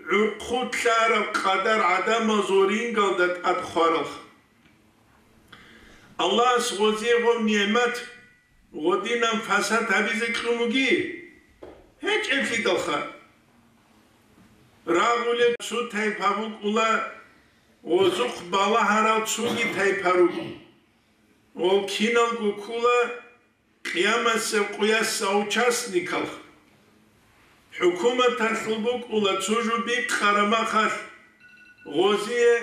гӀурхъулъараб къадар гӀадамазул рингалда тӀад хваралха. Аллагьас гъозие гъов нигӀмат гъодинан фасад гьабизе кьун вуги? ГьечӀеблъидалха. Рагъулеб цо тайпа букӀула, гъозухъ балагьарал цоги тайпа руго. Гъол киналго ккула Къиямасеб къуяса участникалха. ХӀукуматалъул букӀула цо жо бикъараб махалъ гъозие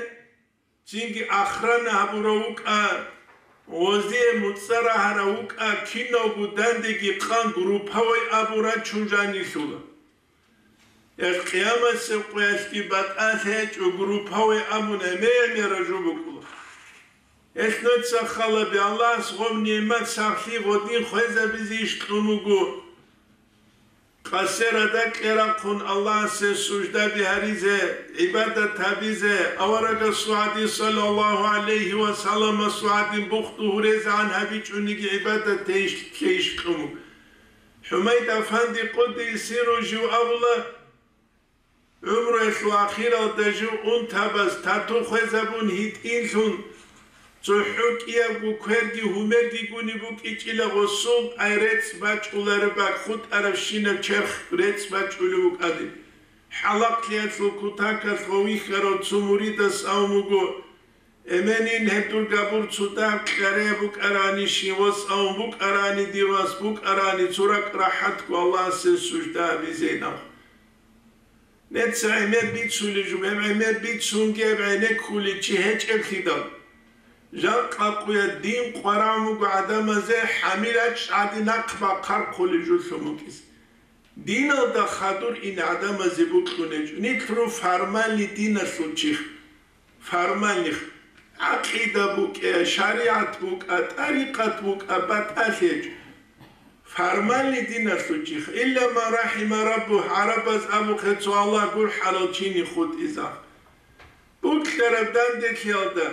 цинги охрана гьабурав вукӀа, гъозие муцӀа рагьарав вукӀа, киналго дандеги къан групповой абун рачун жанилъула. Гьеб къиямасеб къуялъги батӀалъи гьечӀо, групповой абун гӀемер-гӀемераб жо букӀула. Гьелъ нуца хал гьабе, Аллагьас гъоб нигӀмат сахлъи гъодин хвезабизе иш кьун вуго. Къасе радакье рахъун Аллагьасе суждаби гьаризе, гӀибадат гьабизе, аварагасул гӀадин, саллаллагьу гӀалайгьи ва салламасул гӀадин, бухъду гьурезегӀан гьабичӀониги гӀибадат гьейищ-, гьейищ кьун. ХӀумайд-афанди къуддиса сирругьу жив абула, гӀумруялъул ахиралда жив унтабаз тату хвезабун гьитӀинлъун, цохӀо кӀиябго кверги гьумерги гуни букӀичӀила гъосул, ай рецӀ бачӀулареб бакӀ хутӀарабщинаб черх рецӀ бачӀулев вукӀанин. ХӀалахълъиялъул кутакалъ гъов вихьарав цо муридас абун буго, Эменин гьеб дур габур цо дагь кьаре букӀарани, щивас авун букӀарани, дир вас букӀарани, цо ракӀ рахӀатго Аллагьасе сужда гьабизейилан. Нуца гӀемер бицулеб жо, гьеб гӀемер бицунги гьеб гӀенеккулев чи гьечӀеблъидал. Жакъа къуя дин къваран вуго гӀадамазе, хӀамил ачӀ гӀадин нахъ бахъархъулеб жо лъун вукӀизе. Диналда хадур ин гӀадамазе бокьун гьечӀо. Нилъ ру формальный диналъул чихъ. Формальных, гӀакъида букӀа, шаригӀат букӀа, тӀарикъат букӀа, батӀалъи гьечӀо. Формальный диналъул чихъ, илла ман рахӀима раббугь, гӀарабаз абухъе цо Аллагь гурхӀарал чини хутӀизаб. Букьараб данделъиялда,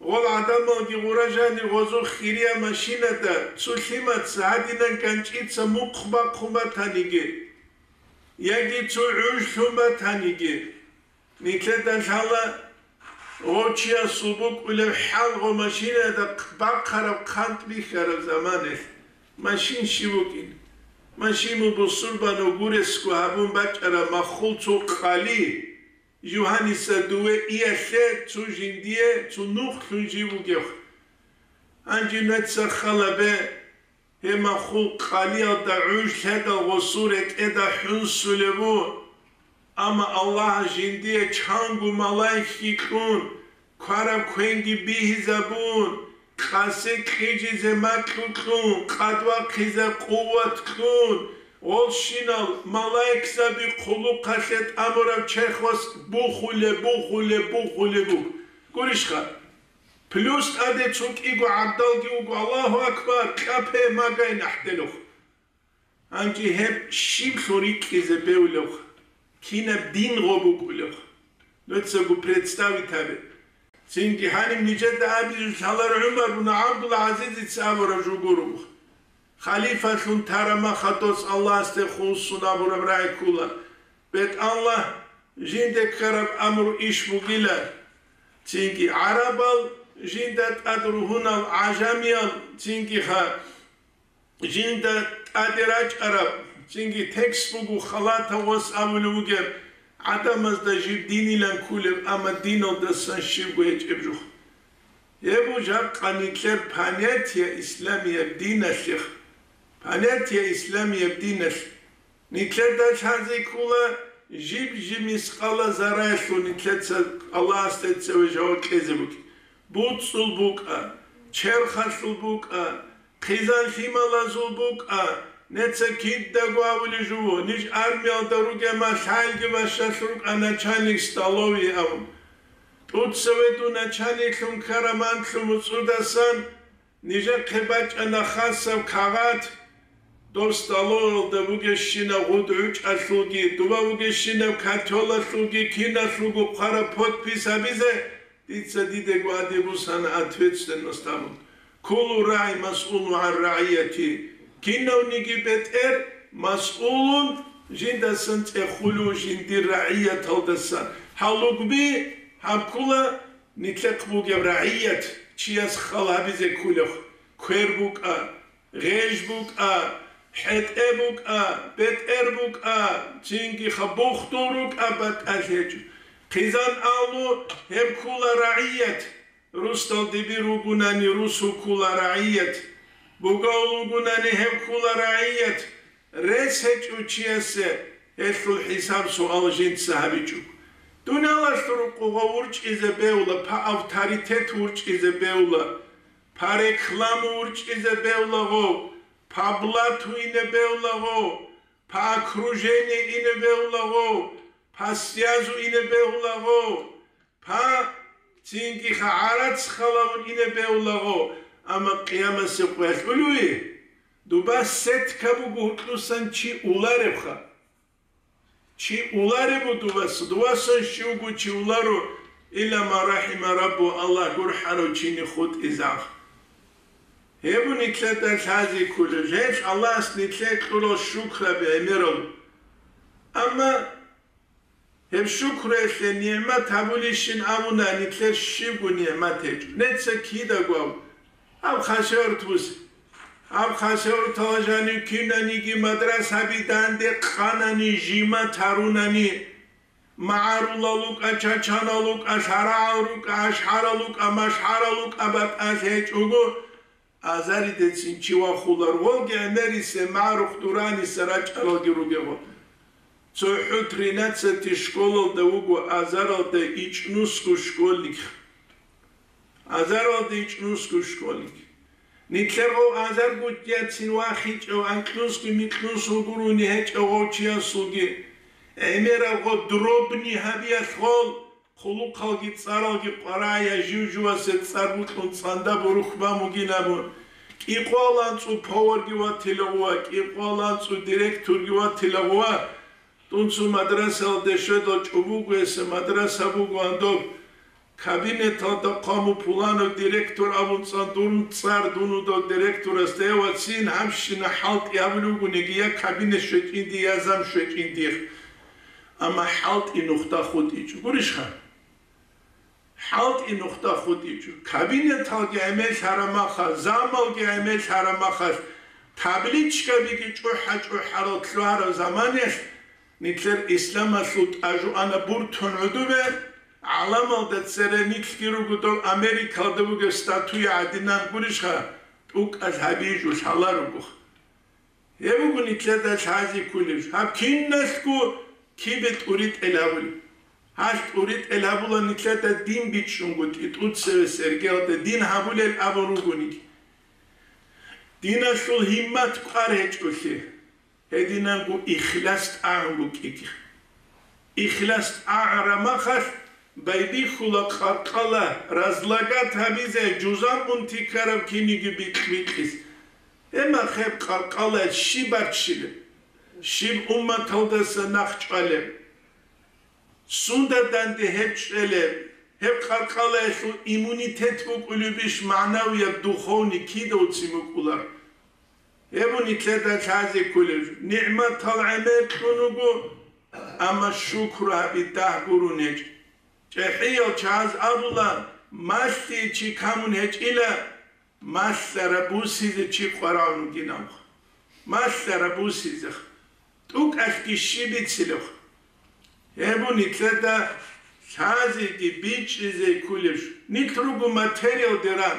гъол гӀадамалги гъура жанир гъозухъ хирия машинада, цо лъимаца, гьадинан ганчӀица мухъ бахъун батаниги, яги цо гӀуж лъун батаниги, Нилъеда лъала гъов чиясул букӀулеб хӀал гъо машинада бахъараб хъантӀ бихьараб заманалъ. Машин щив вукӀин? Машин бусурбанав гуресго гьабун бачӀараб маххул цо къали, жугьаниса дуве иялъе цо жиндие цо нухлъун жив вугев. Гьанже нуца хал гьабе, Гьеб маххул къалиялда гӀуж лъедал гъосул ретӀеда хӀунсулеб бу, амма Аллагьас жиндие чанго малаикги кьун, квараб квенги бигьизабун, къасе кьижизе макьу кьун, къадвахъизе къуват кьун, гъолщинал малаикзаби хъулухъалъе тӀамураб черхвас бухулеб, бухулеб, бухулеб буго. Гурищха? Плюс тӀаде цо кӀиго гӀабдалги вуго, Аллагьу акбар, кьапе магай нахӀделухъ. Гьанже гьеб щиблъун рикӀкӀизе бевлевха, кинаб дин гъо букӀулевха. Нуцаго представить гьабе. Цинги гьаниб нижеда абизе лъалар ГӀумар бун ГӀабдул-ГӀазизица абураб жо гуро. Халифалъун тарамахадос Аллагьасде хулсун абураб рагӀи ккола. БетӀалла, жинде ккараб амру иш бугила. Цинги гӀарабал, жинда тӀад ругьунал гӀажамиял, цинги ха-, жинда тӀаде рачӀараб, цинги текст буго халатав вас абулев вугеб, гӀадамазда жиб динилан кколеб, амма диналдасан щибго гьечӀеб жо. Гьеб жакъа нилъер понятие исламияб диналъе. Понятие исламияб диналъ. Нилъеда лъазе ккола жиб-жиб мискъала зарраялъул нилъеца Аллагьасде цеве жаваб кьезе бугеб. БуцӀцӀул букӀа, черхалъул букӀа, хъизан лъималазул букӀа, неца кидаго абулеб жо, ниж армиялда ругема лъалги бащалъ рукӀа начальник столовой абун. ТӀуцеве дун начальниклъун ккараманлъун муцӀудасан, нижехъе бачӀана хасаб кагъат, доб столовалда бугещинаб гъуд гӀучӀалъулги, дуба бугещинаб котелалъулги, киналъулго хъвараб подпись гьабизе, дица дидего гьаде бусана ответственность абун. Куллу рагӀи масъулун гӀан рагӀияти. Кинавниги бетӀер масъулун жиндасан цӀехулев жиндир рагӀияталдасан. Гьалугби гьаб ккола нилъехъ бугеб рагӀият чияс хал гьабизе кколеб, квер букӀа, гъеж букӀа, хӀетӀе букӀа, бетӀер букӀа, цинги хабухтун рукӀа батӀалъ гьечӀо. Хъизан алу гьеб ккола рагӀият, русдал дибир вугунани русул ккола рагӀият, бугав вугунани гьеб ккола рагӀият, Рес гьечӀев чиясе гьелъул хӀисаб-суал жинца гьабичӀо. Дуниялалъул рукъугъав урчӀизе бегьула, по авторитету урчӀизе бегьула, по рекламу урчӀизе бегьулаго, по блату ине бегьулаго, по окружению ине бегьулаго, по связу ине бегьулаго, Па, цинги гӀарац халавун ине бегьулаго, амма къиямасеб къоялъ улеве? Дуба сетка буго гьуркьусан чи уларебха. Чи уларебу дубас, дубасан щивго чи уларо, илла ма рахима Раббу, Аллагь гурхӀарав чини хутӀизах. Гьеб нилъеда лъази кколеб, гьелъ Аллагьас нилъее кьурал шукраби гӀемерал. Амма Гьеб шукруялъе нигӀмат гьабулищин абуна, нилъер щибго нигӀмат гьечӀо. Неца кидаго аб, гьаб хасавюрт бусе. Гьаб хасавюрталда жанив кинаниги мадрасаби данде къанани, жимат гьарунани, магӀарулал рукӀа, чачанал рукӀа, лъарагӀал рукӀа, ашгӀарал рукӀа, машгӀарал рукӀа батӀалъи гьечӀого, Азаридецин чи вахулар, волги гӀемерисе, магӀарухъ дуранисе рачӀаралги ругего. ЦохӀо тринадцатый школалда вуго азаралда ичӀнусго школьник. Азаралда ичӀнусго школьник. Нилъер гъов азар гутӀияцин вахичӀев анкьнусги микьнусул гурони гьечӀев гъов чиясулги, гӀемераб гъов дробни гьабиялъ гъол, Хъулухъалги цӀаралги къварая жив-живасе цӀар букьун цӀанда бурухь бан бугин абун, кӀикъоялда анцӀу поварги ватила гъува, кӀикъоялда анцӀу директорги ватила гъува. Тунцу мадрасалде щведал чӀобугуясе мадраса бугоан доб. Кабинеталда хъваму пуланав директор абун цӀан дурун цӀар дунудав директорасда, я вацин гьабщина хӀалтӀи абулев вугониги, я кабинет щвечӀинди, я зам щвечӀинди. Амма хӀалтӀи нухда хутӀичӀо. Гурищха? ХӀалтӀи нухда хутӀичӀо. Кабинеталги гӀемерлъараб махалъ, замалги гӀемерлъараб махалъ, табличкабиги чӀухӀа-чӀухӀарал лъугьараб заманалъ, нилъер исламалъул тӀажу ана буртун гӀодобе, гӀаламалда цере нилъги руго дов Америкалда бугеб статуя гӀадинан гурищха, тӀукӀал гьабижу лъаларого. Гьеб буго нилъеда лъази кколеб, гьаб киналъго кибе тӀуритӀел гьабулеб. Гьалъ тӀуритӀел гьабула нилъеда дин бичӀчӀунго тӀитӀуцеве Сергеялда дин гьабулел абун ругониги. Диналъул гьиммат кӀвар гьечӀолъи, гьединанго ихлас тӀагӀун букӀиги. Ихлас тӀагӀараб махалъ байбихьула къаркъала разлагать гьабизе, жузан унти ккараб киниги бикь-бикьизе. Гьеб махалъ къаркъалаялъ щиб баччилеб? Щиб умматалдаса нахъ чӀвалеб? Сунда данде гьеб чӀвелеб? Гьеб къаркъалаялъул иммунитет букӀулебищ, магӀнавияб, духовный кидавцин букӀулар? Гьеб нилъеда лъазе кколеб жо. НигӀматал гӀемер кьун вуго, амма шукру гьаби дагь гурун гьечӀ. ЧӀехӀиял чагӀаз абула, малъи чи камун гьечӀила, малъараб бусизе чи къварагӀун вугин абун. малъараб бусизех, тӀукӀалъги щиб бицилев. Гьеб нилъеда лъазеги бичӀчӀизе кколеб жо. Нилъ руго материалде ран.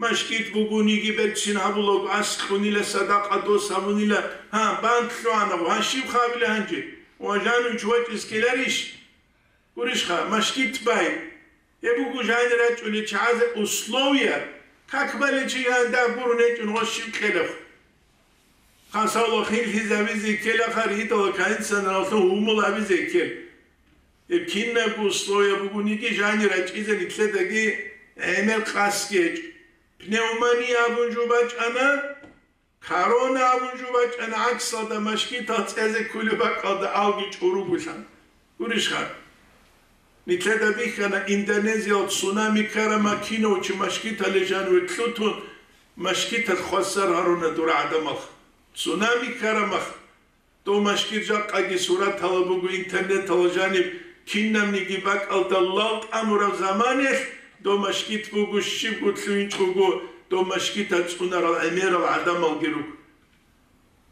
Машгит бугониги берцин гьабулаго, аскьунила, садакъа дос гьабунила, гьа, банк лъугьана, гьа, щиб хабила гьанже? Ва жанив чи вачӀиз ккеларищ? Гурищха, машгит бай. Гьеб буго жанир рачӀунел чагӀазе условия, как баличи гьанже гурун гьечӀун гъос щиб кьелеб. Хасавла хинлъизабизе ккелаха, ритӀала кайинсанраллъун гьумул гьабизе ккел. Гьеб кинабго условия бугониги жанир рачӀизе нилъедаги гӀемер къасги гьечӀо. Пневмония абун жо бачӀана, корона абун жо бачӀана, гӀаксалда машгитал цӀезе кколеб бакӀалда алги чӀуругулъан. Гурищха? Нилъеда бихьана Индонезиял цунами ккараб макинав чи машгитале жаниве лъутун, машгиталъ хвасар гьаруна дур гӀадамал. Цунами ккараб мах. Дов машгит жакъаги суратала буго интернеталда жаниб, кинабниги бакӀалда лал тӀамураб заманалъ дов машгит буго, щибго лъугьинчӀого дов машгиталъ цӀунарал гӀемерал гӀадамалги руго.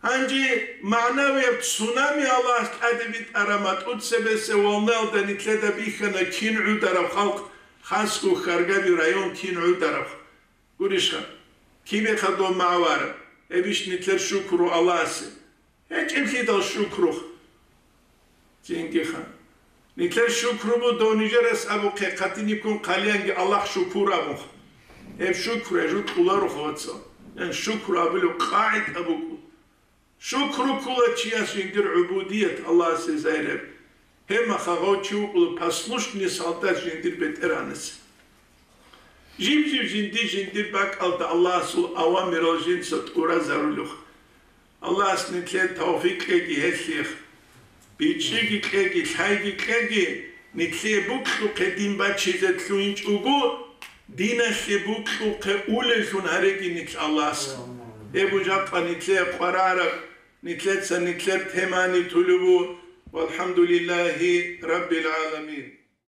Гьанже магӀнавияб цунами Аллагьас тӀаде битӀараб матӀу цебесеб волнаялда нилъеда бихьана кин гӀудараб халкъ, хасго Хьаргаби район кин гӀудараб. Гурищха, кибеха дов магӀараб, гьебищ нилъер шукру Аллагьасе? ГьечӀеблъидал шукру. Цингиха. Нилъер шукру буго дов нижерас абухъе, хъатиниккун хъалиянги Аллагь шукур абун. Гьеб шукру гьеб жо кьоларо, вацал. Ян шукру абулеб къагӀида букӀун. Шукру ккола чияс жиндир гӀубудият Аллагьасе зайреб. Гьеб мехалъ гъов чи вукӀула послушный солдат жиндир БетӀергьанасе. Жиб-жиб жинди-жиндир бакӀалда Аллагьасул авамирал жинца тӀуразарулеха. Аллагьас нилъее тавфикъ кьеги гьелъие. БичӀчӀиги кьеги, лъайги кьеги, нилъее бокьухъе дин бачизе лъугьинчӀого, диналъе бокьухъе улеллъун гьареги нилъ Аллагьасухъ. Гьеб жакъа нилъее къваригӀараб, нилъеца нилъер темани тулеб буго. Валхамдулиллагьи раббил гӀаламин.